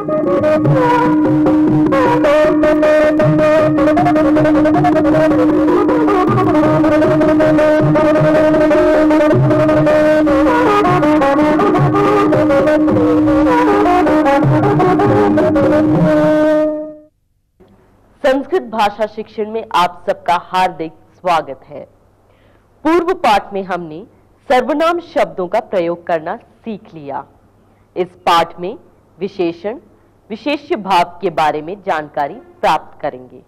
संस्कृत भाषा शिक्षण में आप सबका हार्दिक स्वागत है। पूर्व पाठ में हमने सर्वनाम शब्दों का प्रयोग करना सीख लिया। इस पाठ में विशेषण, विशेष्य भाव के बारे में जानकारी प्राप्त करेंगे।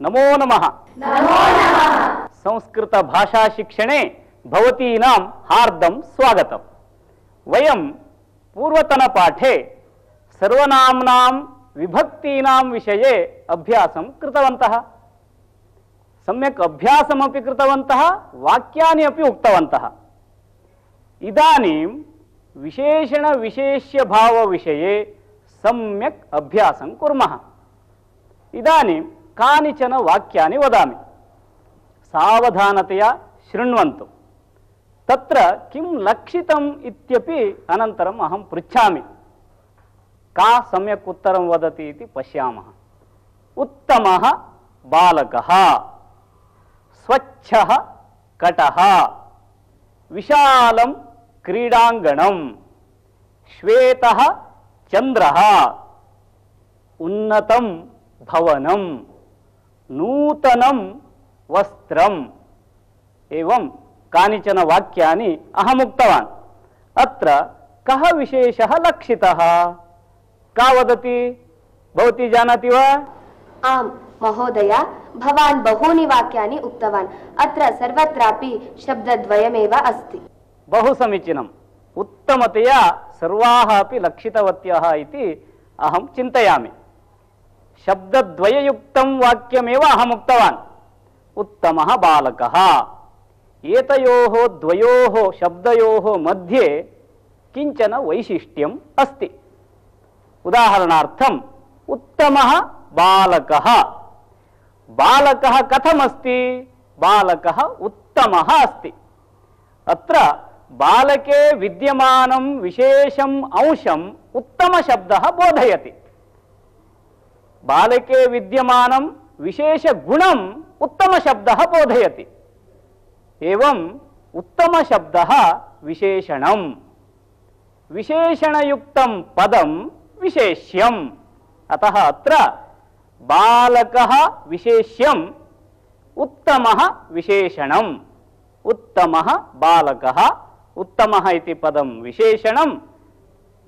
नमो नमः। नमो नमः। संस्कृत भाषा शिक्षणे भवतीनां हार्दं स्वागतम्। वयं पूर्वतन पाठे सर्वनाम्नां विभक्तीनां विषये अभ्यासं कृतवन्तः। सम्यक् अभ्यासमपि कृतवन्तः, वाक्यानि अपि उक्तवन्तः। इदानीं विशेषण विशेष्य भाव विषये सम्यक् अभ्यासं कुर्मः। इदानीं कानिचन वाक्यानि वदामि, सावधानतया शृण्वन्तु। तत्र किं लक्षितम् इत्यपि अनन्तरम् अहं पृच्छामि। का सम्यक् उत्तरं वदति इति पश्यामः। उत्तमः बालकः, स्वच्छः कटः, विशालं क्रीडाङ्गणं, श्वेतः चन्द्रः, उन्नतं भवनं, नूतनं वस्त्रम्। एवं कानिचन वाक्यानि अहम् उक्तवान्। अत्र कः विशेषः लक्षितः? का वदति? भवती जानाति वा? आम् महोदय, भवान् बहूनि वाक्यानि उक्तवान्। अत्र सर्वत्रापि शब्दद्वयमेव अस्ति। बहु समीचीनम्। उत्तमतया सर्वाः अपि लक्षितवत्यः इति अहं चिन्तयामि। शब्दद्वययुक्तं वाक्यमेव अहम् उक्तवान्। उत्तमः बालकः। एतयोः द्वयोः शब्दयोः मध्ये किञ्चन वैशिष्ट्यम् अस्ति। उदाहरणार्थम् उत्तमः बालकः। बालकः कथमस्ति? बालकः उत्तमः अस्ति। अत्र बालके विद्यमानं विशेषम् अंशम् उत्तमशब्दः बोधयति। बालके विद्यमानं विशेषगुणम् उत्तमशब्दः बोधयति। एवं उत्तमशब्दः विशेषणम्। विशेषणयुक्तं पदं विशेष्यम्। अतः अत्र बालकः विशेष्यम्, उत्तमः विशेषणम्। उत्तमः बालकः, उत्तमः इति पदं विशेषणं,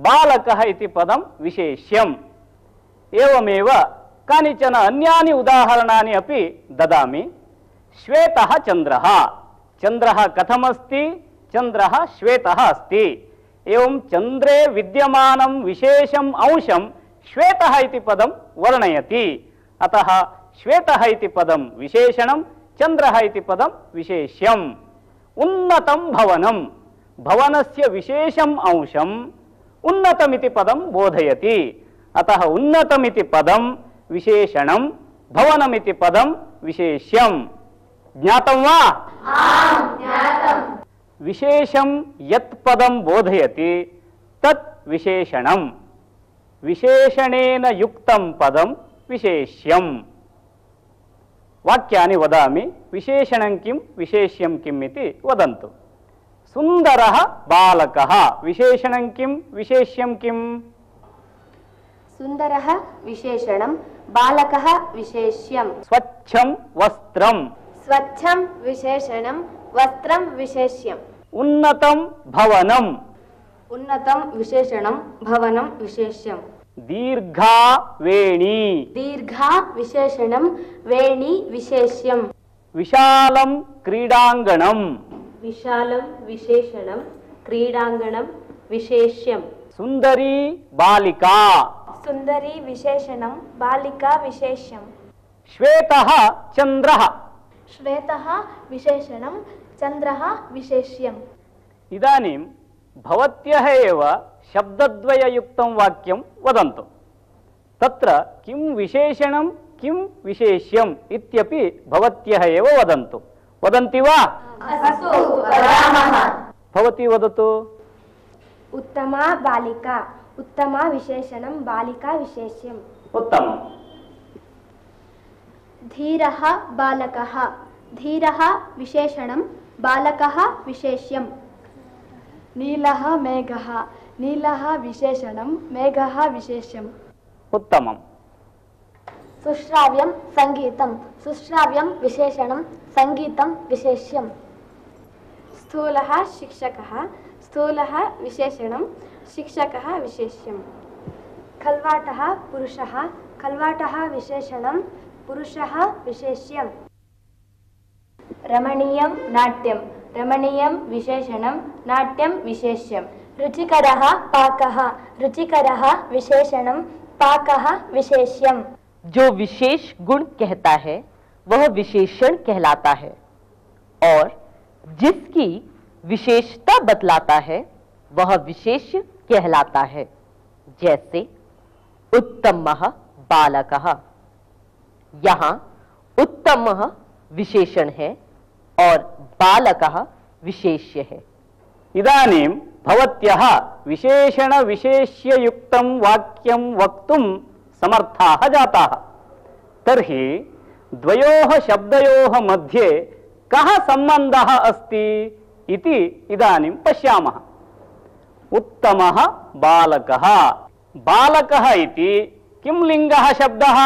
बालकः इति पदं विशेष्यम्। एवमेव कानिचन अन्यानि उदाहरणानि अपि ददामि। श्वेतः चन्द्रः। चन्द्रः कथमस्ति? चन्द्रः श्वेतः अस्ति। एवं चन्द्रे विद्यमानं विशेषम् अंशं श्वेतः इति पदं वर्णयति। अतः श्वेतः इति पदं विशेषणं, चन्द्रः इति पदं विशेष्यम्। उन्नतं भवनं। भवनस्य विशेषम् अंशम् उन्नतमिति पदं बोधयति। अतः उन्नतमिति पदं विशेषणं, भवनमिति पदं विशेष्यम्। ज्ञातं वा? आम्, ज्ञातम्। विशेषं यत् पदं बोधयति तत् विशेषणं। विशेषणेन युक्तं पदं विशेष्यम्। वाक्यानि वदामि। विशेषणं किं, विशेष्यं किम् इति वदन्तु। सुन्दरः बालकः। विशेषणं किं, विशेष्यं किम्? सुन्दरः विशेषणं, बालकः विशेष्यम्। स्वच्छं वस्त्रं। स्वच्छं विशेषणं, वस्त्रं विशेष्यम्। उन्नतं भवनं। उन्नतं विशेषणं, भवनं विशेष्यम्। दीर्घा वेणी। दीर्घा विशेषणं, वेणी विशेष्यम्। विशालं क्रीडाङ्गणं। विशालं विशेषणं, क्रीडाङ्गणं विशेष्यम्। सुन्दरी बालिका। सुन्दरी विशेषणं, बालिका विशेष्यम्। श्वेतः चन्द्रः। श्वेतः विशेषणं, चन्द्रः विशेष्यम्। इदानीं भवत्यः एव शब्दद्वययुक्तं वाक्यं वदन्तु। तत्र किं विशेषणं, किं विशेष्यम् इत्यपि भवत्यः एव वदन्तु। वदन्ति वा? अस्तु, वदामः। भवती वदतु। उत्तमा बालिका उत्तमा विशेषणं बालिका विशेष्यम् उत्तमम् धीरः बालकः धीरः विशेषणं बालकः विशेष्यम् नीलः मेघः नीलः विशेषणं मेघः विशेष्यम् उत्तमम् सुश्राव्यं सङ्गीतं सुश्राव्यं विशेषणं सङ्गीतं विशेष्यम् स्थूलः शिक्षकः स्थूलः विशेषणं शिक्षकः विशेष्यम् खल्वाटः पुरुषः खल्वाटः विशेषणं पुरुषः विशेष्यम् रमणीयं नाट्यं रमणीयं विशेषणं नाट्यं विशेष्यम् रुचिकरः पाकः रुचिकरः विशेषणं पाकः विशेष्यम् जो विशेष गुण कहता है वह विशेषण कहलाता है और जिसकी विशेषता बतलाता है वह विशेष्य कहलाता है। जैसे उत्तमः बालकः, यहाँ उत्तमः विशेषण है और बालकः विशेष्य है। इदानीं भवत्यः विशेषण विशेष्य युक्तं वाक्यं वक्तुं समर्थाः जाताः। तर्हि द्वयोः शब्दयोः मध्ये कः सम्बन्धः अस्ति इति इदानीं पश्यामः। उत्तमः बालकः, बालकः इति किं लिङ्गः शब्दः?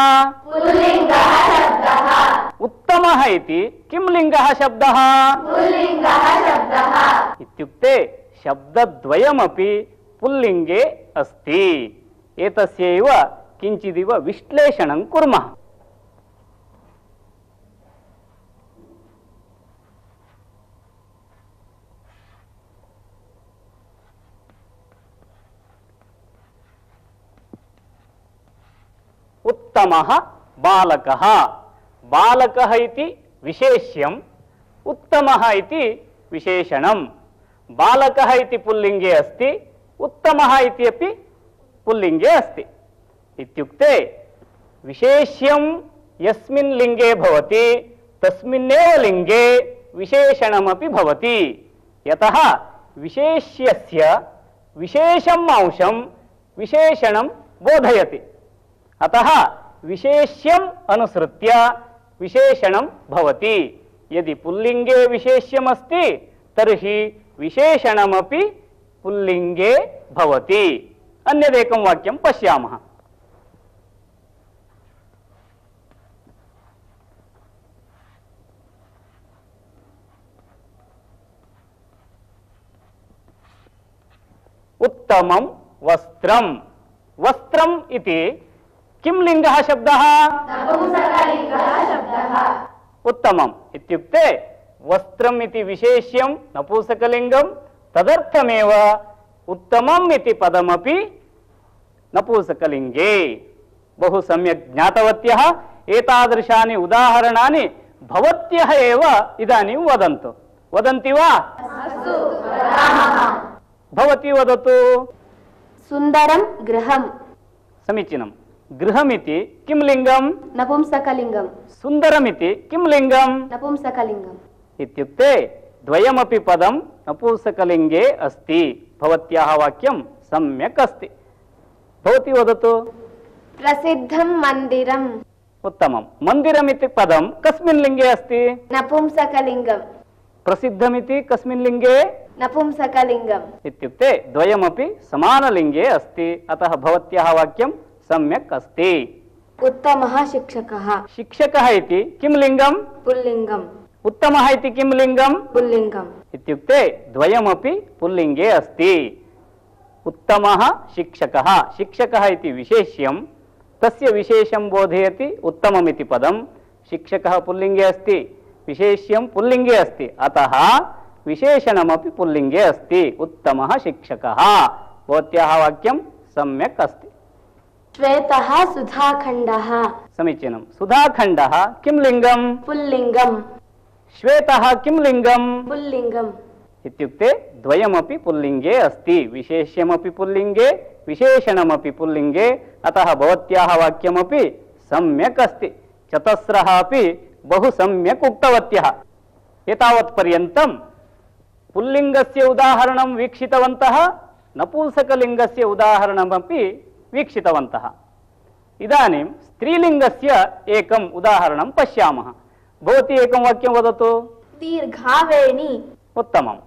पुल्लिङ्गः शब्दः। उत्तमः इति किं लिङ्गः शब्दः? पुल्लिङ्गः शब्दः। इत्युक्ते शब्दद्वयमपि पुल्लिङ्गे अस्ति। एतस्यैव किञ्चिदिव विश्लेषणं कुर्मः। उत्तमः बालकः, बालकः इति विशेष्यम्, उत्तमः इति विशेषणम्। बालकः इति पुल्लिङ्गे अस्ति, उत्तमः इति अपि पुल्लिङ्गे अस्ति। इत्युक्ते विशेष्यं यस्मिन् लिङ्गे भवति तस्मिन्नेव लिङ्गे विशेषणमपि भवति। यतः विशेष्यस्य विशेषम् अंशं विशेषणं बोधयति। अतः विशेष्यम् अनुसृत्य विशेषणं भवति। यदि पुल्लिङ्गे विशेष्यमस्ति तर्हि विशेषणमपि पुल्लिङ्गे भवति। अन्यदेकं वाक्यं पश्यामः। उत्तमं वस्त्रं, वस्त्रम् इति किं लिङ्गः शब्दः? नपुंसकलिङ्गः शब्दः। उत्तमम् इत्युक्ते वस्त्रम् इति विशेष्यं नपुंसकलिङ्गं, तदर्थमेव उत्तमम् इति पदमपि नपुंसकलिङ्गे। बहु सम्यक् ज्ञातवत्यः। एतादृशानि उदाहरणानि भवत्यः एव इदानीं वदन्तु। वदन्ति वा? भवती वदतु। सुन्दरं गृहं। समीचीनं। गृहमिति किं लिङ्गं? नपुंसकलिङ्गं। सुन्दरमिति किं लिङ्गं? नपुंसकलिङ्गम्। इत्युक्ते द्वयमपि पदं नपुंसकलिङ्गे अस्ति। भवत्याः वाक्यं सम्यक् अस्ति। भवती वदतु। प्रसिद्धं मन्दिरम्। उत्तमं। मन्दिरमिति पदं कस्मिन् लिङ्गे अस्ति? नपुंसकलिङ्गम्। प्रसिद्धमिति कस्मिन् लिङ्गे? नपुंसकलिङ्गम्। इत्युक्ते द्वयमपि समानलिङ्गे अस्ति। अतः भवत्याः वाक्यं सम्यक् अस्ति। उत्तमः शिक्षकः। शिक्षकः इति किं लिङ्गं? पुल्लिङ्गम्। उत्तमः इति किं लिङ्गं? पुल्लिङ्गम्। इत्युक्ते द्वयमपि पुल्लिङ्गे अस्ति। उत्तमः शिक्षकः, शिक्षकः इति विशेष्यं, तस्य विशेषं बोधयति उत्तममिति पदं। शिक्षकः पुल्लिङ्गे अस्ति, विशेष्यं पुल्लिङ्गे अस्ति, अतः विशेषणमपि पुल्लिङ्गे अस्ति। उत्तमः शिक्षकः। भवत्याः वाक्यं सम्यक् अस्ति। श्वेतः सुधाखण्डः। समीचीनं। सुधाखण्डः किं लिङ्गं? पुल्लिङ्गम्। श्वेतः किं लिङ्गं? पुल्लिङ्गम्। इत्युक्ते द्वयमपि पुल्लिङ्गे अस्ति। विशेष्यमपि पुल्लिङ्गे, विशेषणमपि पुल्लिङ्गे, अतः भवत्याः वाक्यमपि सम्यक् अस्ति। चतस्रः अपि बहु सम्यक् उक्तवत्यः। एतावत्पर्यन्तं पुल्लिङ्गस्य उदाहरणं वीक्षितवन्तः। नपुंसकलिङ्गस्य उदाहरणमपि वीक्षितवन्तः। इदानीं स्त्रीलिङ्गस्य एकम् उदाहरणं पश्यामः। भवती एकं वाक्यं वदतु। दीर्घावेणी। उत्तमम्।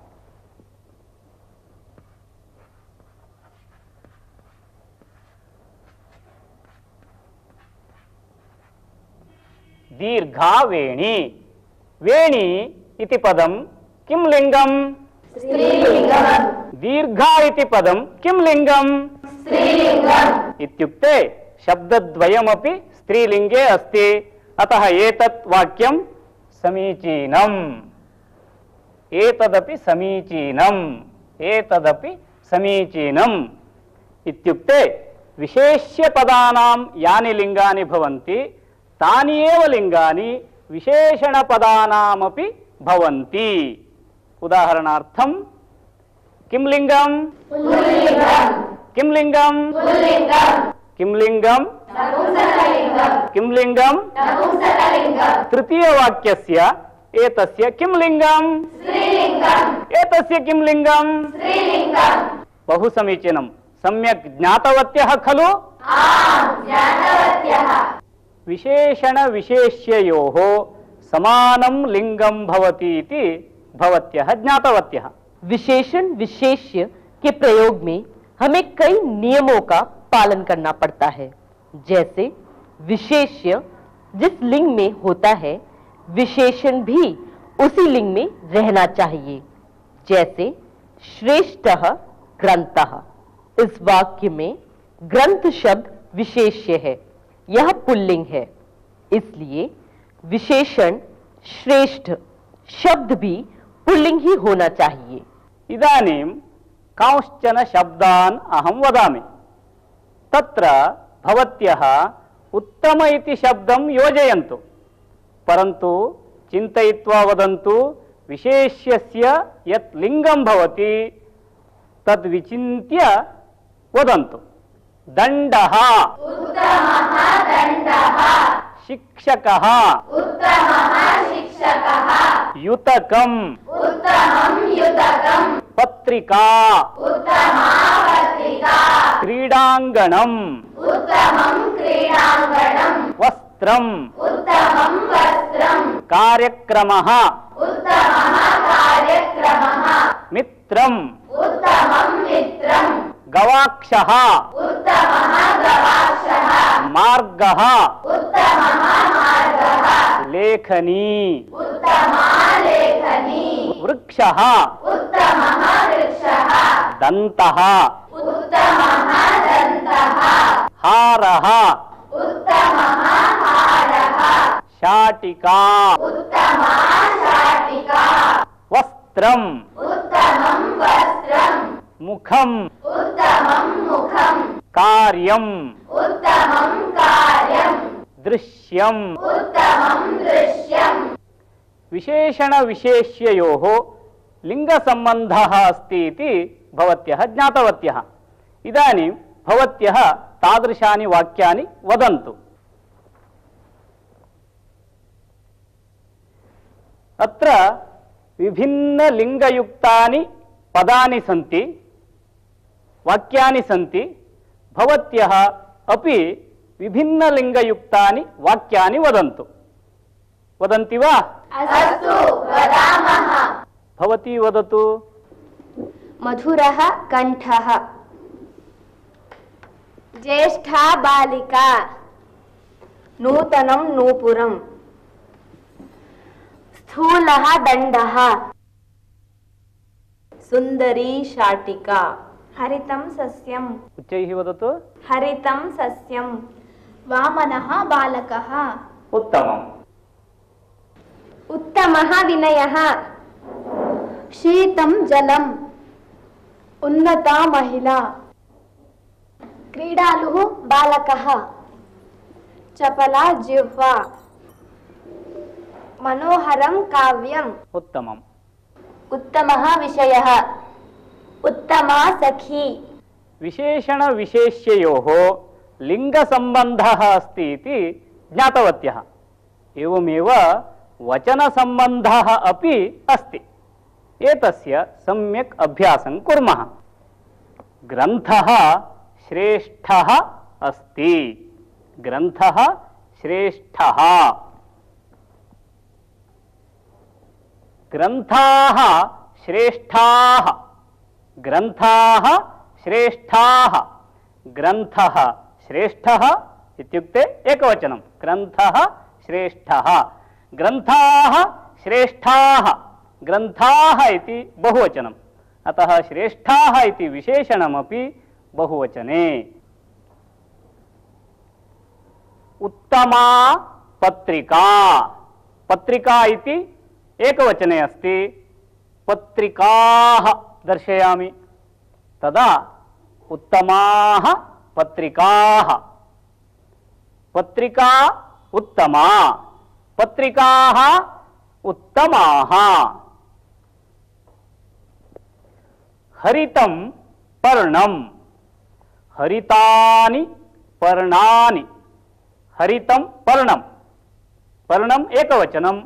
दीर्घावेणी। वेणी इति पदं किं लिङ्गम्? स्त्रीलिङ्गम्। दीर्घा इति पदं किं लिङ्गम्? स्त्रीलिङ्गम्। इत्युक्ते शब्दद्वयमपि स्त्रीलिङ्गे अस्ति। अतः एतत् वाक्यं समीचीनम्। एतदपि समीचीनम्। एतदपि समीचीनम् इत्युक्ते विशेष्यपदानां यानि लिङ्गानि भवन्ति तानि एव लिङ्गानि विशेषणपदानामपि भवन्ति। उदाहरणार्थं किं लिङ्गम्? किं लिङ्गम्? किं लिङ्गम्? किं लिङ्गम्? तृतीयवाक्यस्य एतस्य किं लिङ्गम्? एतस्य किं लिङ्गम्? बहु समीचीनं। सम्यक् ज्ञातवत्यः खलु? विशेषणविशेष्ययोः समानं लिङ्गं भवति इति भवत्यः ज्ञातवत्यः। विशेषण विशेष्य के प्रयोग में हमें कई नियमों का पालन करना पड़ता है। जैसे विशेष्य जिस लिंग में होता है विशेषण भी उसी लिंग में रहना चाहिए। जैसे श्रेष्ठः ग्रंथः। इस वाक्य में ग्रंथ शब्द विशेष्य है, यह पुल्लिंग है, इसलिए विशेषण श्रेष्ठ शब्द भी पुल्लिंग ही होना चाहिए। इदानीं कांश्चन शब्दान् अहं वदामि। तत्र भवत्यः उत्तम इति शब्दं योजयन्तु, परन्तु चिन्तयित्वा वदन्तु। विशेष्यस्य यत् लिङ्गं भवति तद् विचिन्त्य वदन्तु। दण्डः, शिक्षकः, युतकम्, पत्रिका, क्रीडाङ्गणम्, वस्त्रम्, कार्यक्रमः, मित्रम्, गवाक्षः, मार्गः, लेखनी, वृक्षः, दन्तः, हारः, शाटिका, वस्त्रम्, मुखम्, कार्यम्, दृश्यम्। विशेषणविशेष्ययोः लिङ्गसम्बन्धः अस्ति इति भवत्यः ज्ञातवत्यः। इदानीं भवत्यः तादृशानि वाक्यानि वदन्तु। अत्र विभिन्नलिङ्गयुक्तानि पदानि सन्ति, वाक्यानि सन्ति। भवत्यः अपि विभिन्नलिङ्गयुक्तानि वाक्यानि वदन्तु। वदन्ति वा? अस्तु, वदामः। भवती वदतु। मधुरः कण्ठः। ज्येष्ठा बालिका। नूतनं नूपुरम्। स्थूलः दण्डः। सुन्दरी शाटिका। हरितं सस्यम्। उच्चैः वदतु। हरितं सस्यम्। वामनः बालकः। उत्तमम्। उत्तमः विनयः। शीतं जलम्। उन्नता महिला। क्रीडालुः बालकः। चपला जिह्वा। मनोहरं काव्यम्। उत्तमम्। उत्तमः विषयः। उत्तमा सखी। विशेषणविशेष्ययोः लिङ्गसम्बन्धः अस्ति इति ज्ञातवत्यः। एवमेव वचनसम्बन्धः अपि अस्ति। एतस्य सम्यक् अभ्यासं कुर्मः। ग्रन्थः श्रेष्ठः अस्ति। ग्रन्थः श्रेष्ठः। ग्रन्थाः श्रेष्ठाः। ग्रन्थाः श्रेष्ठाः। ग्रन्थः श्रेष्ठः इत्युक्ते एकवचनं। ग्रन्थः श्रेष्ठः। ग्रन्थाः श्रेष्ठाः। ग्रन्थाः इति बहुवचनम्, अतः श्रेष्ठाः इति विशेषणमपि बहुवचने। उत्तमा पत्रिका। पत्रिका इति एकवचने अस्ति। पत्रिकाः दर्शयामि, तदा उत्तमाः पत्रिकाः। पत्रिका उत्तमा, पत्रिकाः उत्तमाः। हरितं पर्णं। हरितानि पर्णानि। हरितं पर्णं। पर्णम् एकवचनं।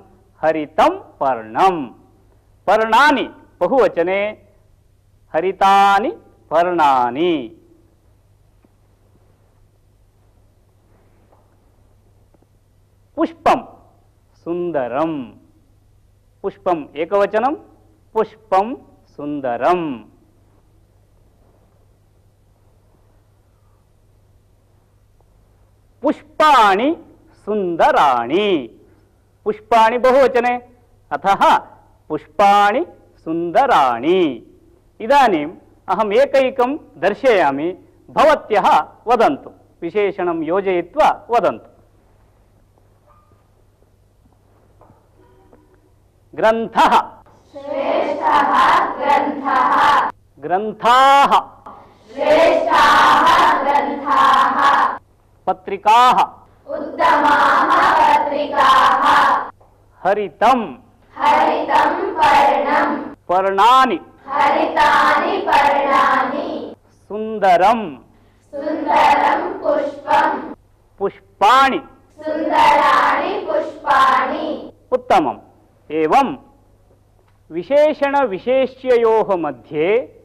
हरितं पर्णं। पर्णानि बहुवचने। हरितानि पर्णानि। पुष्पं सुन्दरं। पुष्पम् एकवचनं। पुष्पं सुन्दरम्। पुष्पाणि सुन्दराणि। पुष्पाणि बहुवचने, अतः पुष्पाणि सुन्दराणि। इदानीम् अहम् एकैकं दर्शयामि, भवत्यः वदन्तु, विशेषणं योजयित्वा वदन्तु। ग्रन्थः श्रेष्ठः ग्रन्थः। ग्रन्थाः श्रेष्ठाः ग्रन्थाः। पत्रिकाः उत्तमाः पत्रिकाः। हरितं हरितं पर्णं। पर्णानि हरितानि पर्णानि। सुन्दरं सुन्दरं पुष्पं। पुष्पाणि सुन्दराणि पुष्पाणि। उत्तमम्। एवं विशेषणविशेष्ययोः मध्ये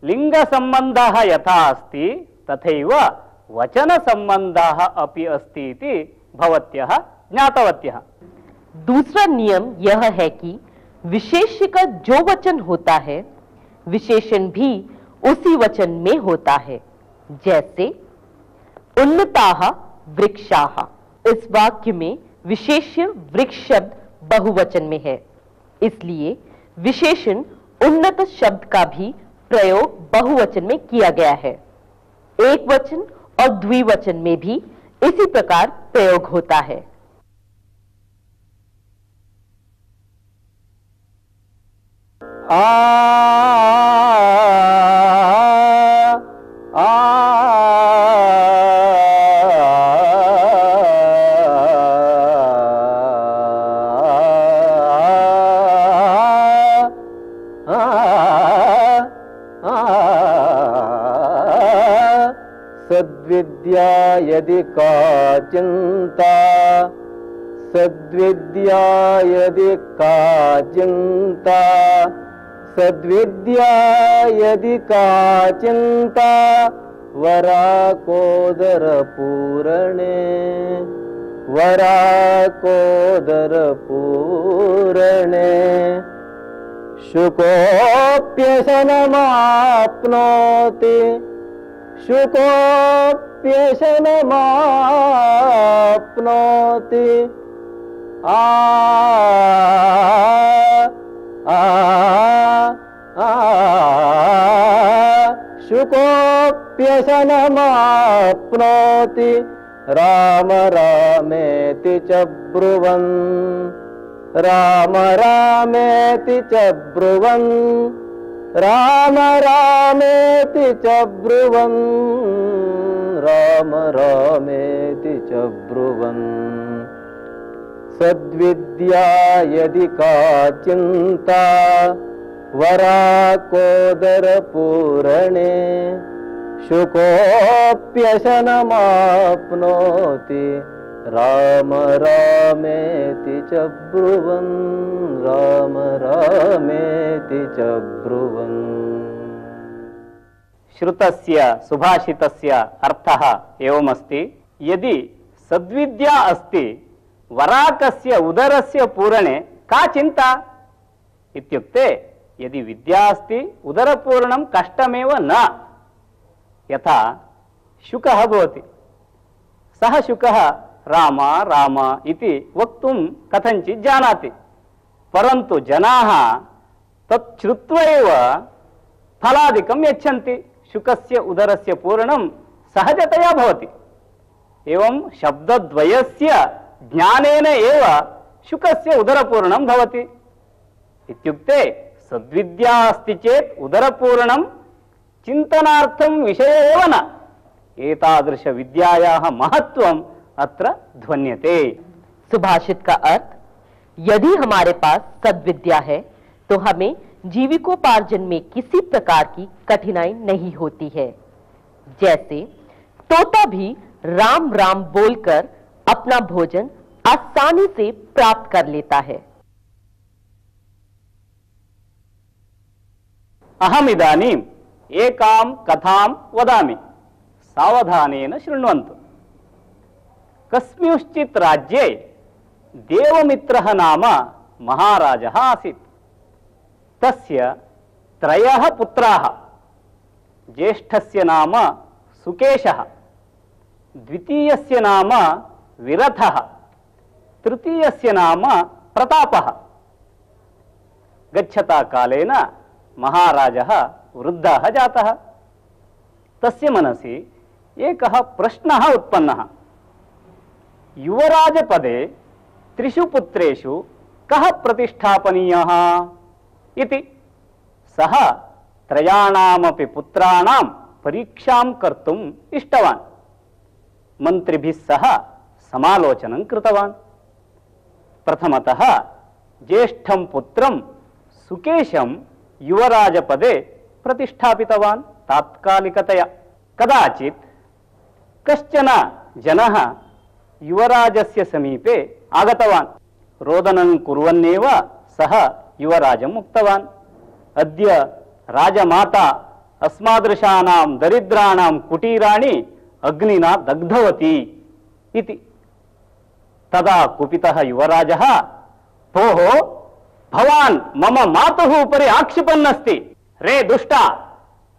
लिङ्गसम्बन्धः यथा अस्ति तथैव वचनसम्बन्धः अपि अस्ति इति भवत्यः ज्ञातवत्यः। दूसरा नियम यह है कि विशेष्य का जो वचन होता है विशेषण भी उसी वचन में होता है। जैसे उन्नताः वृक्षाः, इस वाक्य में विशेष्य वृक्ष शब्द बहुवचन में है, इसलिए विशेषण उन्नत शब्द का भी प्रयोग बहुवचन में किया गया है। एक वचन और द्विवचन में भी इसी प्रकार प्रयोग होता है। सद्विद्या यदि का चिंता। सद्विद्या यदि का चिंता। सद्विद्या यदि का चिंता। वराकोदर पूरणे। वराकोदर पूरणे। शुकोऽप्यशनमाप्नोति। शुकोऽप्यशनमाप्नोति। शुकोऽप्यशनमाप्नोति। राम रामेति च ब्रुवन्। राम रामेति च ब्रुवन्। राम रामेति च ब्रुवन्। राम रामेति च ब्रुवन्। सद्विद्या यदि का चिंता। वराकोदर पूरणे। शुकोऽप्यशनमाप्नोति। राम रामेति च ब्रुवन्। राम रामेति च ब्रुवन्। श्रुतस्य सुभाषितस्य अर्थः एवमस्ति, यदि सद्विद्या अस्ति वराकस्य उदरस्य पूरणे का चिंता इत्युक्ते यदि विद्या अस्ति उदरपूरणं कष्टमेव न। यथा शुकः भवति, सः शुकः राम राम इति वक्तुं कथञ्चित् जानाति, परन्तु जनाः तत् श्रुत्वा एव फलादिकं यच्छन्ति। शुकस्य उदरस्य पूरणं सहजतया भवति। एवं शब्दद्वयस्य ज्ञानेन एव शुकस्य उदरपूरणं भवति। इत्युक्ते सद्विद्या अस्ति चेत् उदरपूरणं चिन्तनार्थं विषय एव न। एतादृश विद्यायाः महत्त्वम् अत्र ध्वन्यते। सुभाषित का अर्थ, यदि हमारे पास सद्विद्या है तो हमें जीविकोपार्जन में किसी प्रकार की कठिनाई नहीं होती है। जैसे तोता भी राम राम बोलकर अपना भोजन आसानी से प्राप्त कर लेता है। अहमिदानीम् एकां कथां वदामि, सावधानेन शृण्वन्तु। कस्मिंश्चित् राज्ये देवमित्रः नाम महाराजः आसीत्। तस्य त्रयः पुत्राः। ज्येष्ठस्य नाम सुकेशः, द्वितीयस्य नाम विरथः, तृतीयस्य नाम प्रतापः। गच्छता कालेन महाराजः वृद्धः जातः। तस्य मनसि एकः प्रश्नः उत्पन्नः, युवराजपदे त्रिषु पुत्रेषु कः प्रतिष्ठापनीयः इति। सः त्रयाणामपि पुत्राणां परीक्षां कर्तुम् इष्टवान्। मन्त्रिभिः सह समालोचनं कृतवान्। प्रथमतः ज्येष्ठं पुत्रं सुकेशं युवराजपदे प्रतिष्ठापितवान् तात्कालिकतया। कदाचित् कश्चन जनः युवराजस्य समीपे आगतवान्। रोदनं कुर्वन्नेव सः युवराजम् उक्तवान्, अद्य राजमाता अस्मादृशानां दरिद्राणां कुटीराणि अग्निना दग्धवती इति। तदा कुपितः युवराजः, भोः भवान् मम मातुः उपरि आक्षिपन् अस्ति। रे दुष्टा,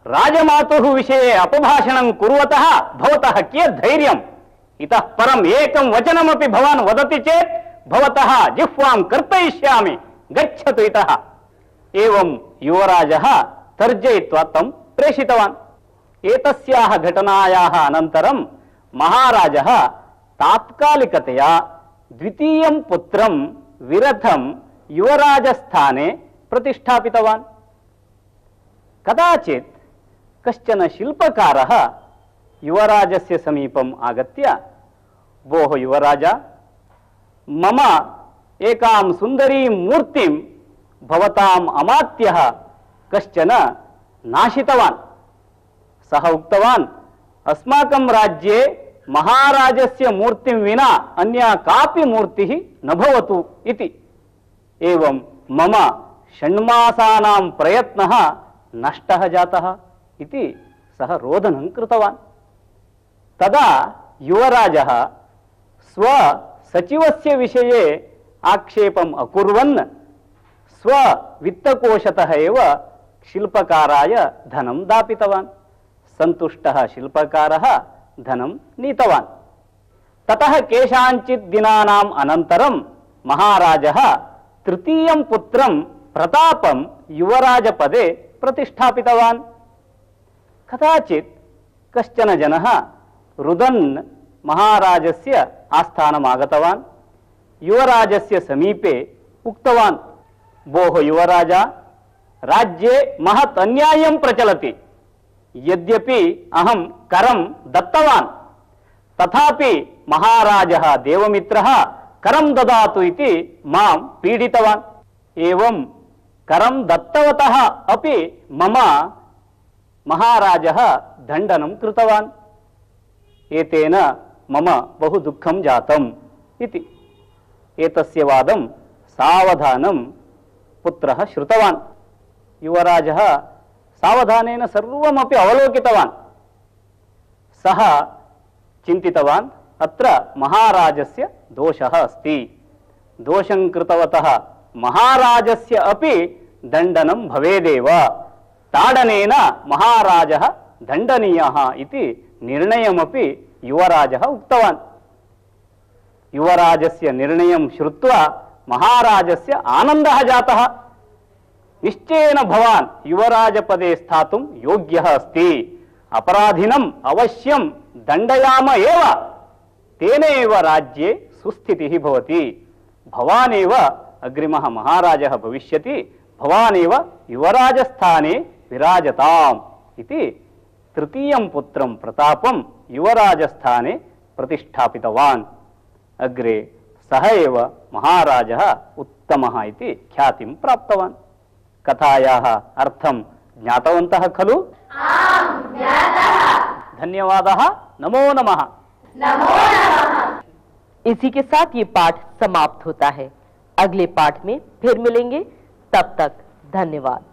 राजमातुः विषये अपभाषणं कुर्वतः भवतः कियत् धैर्यम्? इतः परम् एकं वचनमपि भवान् वदति चेत् भवतः जिह्वां कर्तयिष्यामि, गच्छतु इतः। एवं युवराजः तर्जयित्वा तं प्रेषितवान्। एतस्याः घटनायाः अनन्तरं महाराजः तात्कालिकतया द्वितीयं पुत्रं विरथं युवराजस्थाने प्रतिष्ठापितवान्। कदाचित् कश्चन शिल्पकारः युवराजस्य समीपम् आगत्य, भोः युवराज, मम एकां सुन्दरीं मूर्तिं भवताम् अमात्यः कश्चन नाशितवान्। सः उक्तवान्, अस्माकं राज्ये महाराजस्य मूर्तिं विना अन्या कापि मूर्तिः न भवतु इति। एवं मम षण्मासानां प्रयत्नः नष्टः जातः इति सः रोदनं कृतवान्। तदा युवराजः स्वसचिवस्य विषये आक्षेपम् अकुर्वन् स्ववित्तकोशतः एव शिल्पकाराय धनं दापितवान्। सन्तुष्टः शिल्पकारः धनं नीतवान्। ततः केषाञ्चित् दिनानाम् अनन्तरं महाराजः तृतीयं पुत्रं प्रतापं युवराजपदे प्रतिष्ठापितवान्। कदाचित् कश्चन जनः रुदन् महाराजस्य आस्थानम् आगतवान्। युवराजस्य समीपे उक्तवान्, भोः युवराज, राज्ये महत् अन्यायं प्रचलति। यद्यपि अहं करं दत्तवान्, तथापि महाराजः देवमित्रः करं ददातु इति मां पीडितवान्। एवं करं दत्तवतः अपि मम महाराजः दण्डनं कृतवान्। एतेन मम बहु दुःखं जातम् इति। एतस्य वादं सावधानं पुत्रः श्रुतवान्। युवराजः सावधानेन सर्वमपि अवलोकितवान्। सः चिन्तितवान् अत्र महाराजस्य दोषः अस्ति, दोषं कृतवतः महाराजस्य अपि दण्डनं भवेदेव, ताडनेन महाराजः दण्डनीयः इति निर्णयमपि युवराजः उक्तवान्। युवराजस्य निर्णयं श्रुत्वा महाराजस्य आनन्दः जातः। निश्चयेन भवान् युवराजपदे स्थातुं योग्यः अस्ति, अपराधिनम् अवश्यं दण्डयाम एव, तेनैव राज्ये सुस्थितिः भवति, भवानेव अग्रिमः महाराजः भविष्यति, भवानेव युवराजस्थाने विराजताम् इति तृतीयं पुत्रं प्रतापं युवराजस्थाने प्रतिष्ठापितवान्। अग्रे सः एव महाराजः उत्तमः इति ख्यातिं प्राप्तवान्। कथायाः अर्थं ज्ञातवन्तः खलु? आम्, ज्ञातः। धन्यवादः। नमो नमः। नमो नमः। इसी के साथ ये पाठ समाप्त होता है। अगले पाठ में फिर मिलेंगे, तब तक धन्यवाद।